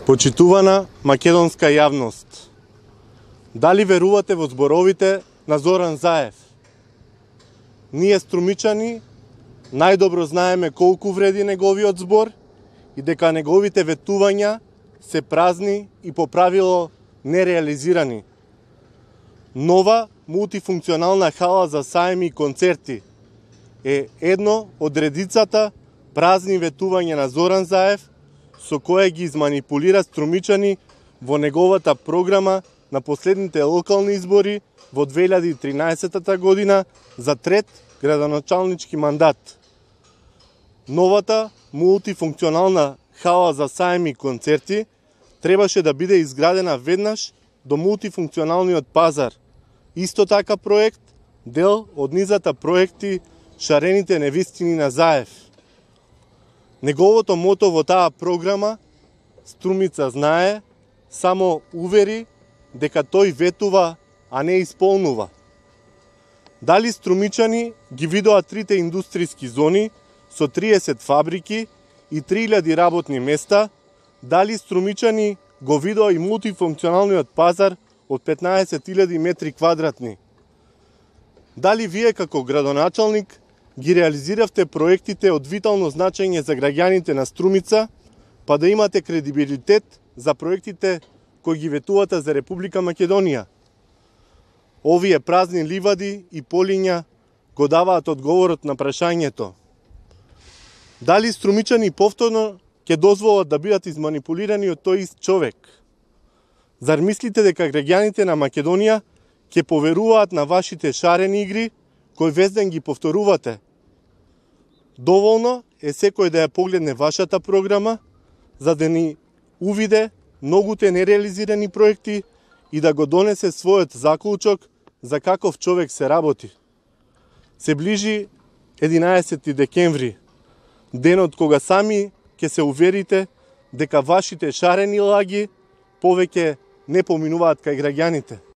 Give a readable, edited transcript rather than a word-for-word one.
Почитувана македонска јавност, дали верувате во зборовите на Зоран Заев? Ние струмичани најдобро знаеме колку вреди неговиот збор и дека неговите ветувања се празни и по правило нереализирани. Нова мултифункционална хала за саеми и концерти е едно од редицата празни ветувања на Зоран Заев со кое ги изманипулира струмичани во неговата програма на последните локални избори во 2013 година за трет градоначалнички мандат. Новата мултифункционална хала за саеми и концерти требаше да биде изградена веднаш до мултифункционалниот пазар. Исто така проект, дел од низата проекти Шарените невистини на Заев. Неговото мото во таа програма, Струмица знае, само увери дека тој ветува, а не исполнува. Дали струмичани ги видоа трите индустријски зони со 30 фабрики и 3000 работни места, дали струмичани го видоа и мултифункционалниот пазар од 15.000 метри квадратни. Дали вие како градоначалник ги реализиравте проектите од витално значење за граѓаните на Струмица, па да имате кредибилитет за проектите кои ги ветувате за Република Македонија? Овие празни ливади и полиња го даваат одговорот на прашањето. Дали струмичани повторно ќе дозволат да бидат изманипулирани од тој ист човек? Зар мислите дека граѓаните на Македонија ќе поверуваат на вашите шарени игри кој вез ден ги повторувате? Доволно е секој да ја погледне вашата програма, за да ни увиде многуте нереализирани проекти и да го донесе својот заклучок за каков човек се работи. Се ближи 11 декември, денот кога сами ќе се уверите дека вашите шарени лаги повеќе не поминуваат кај граѓаните.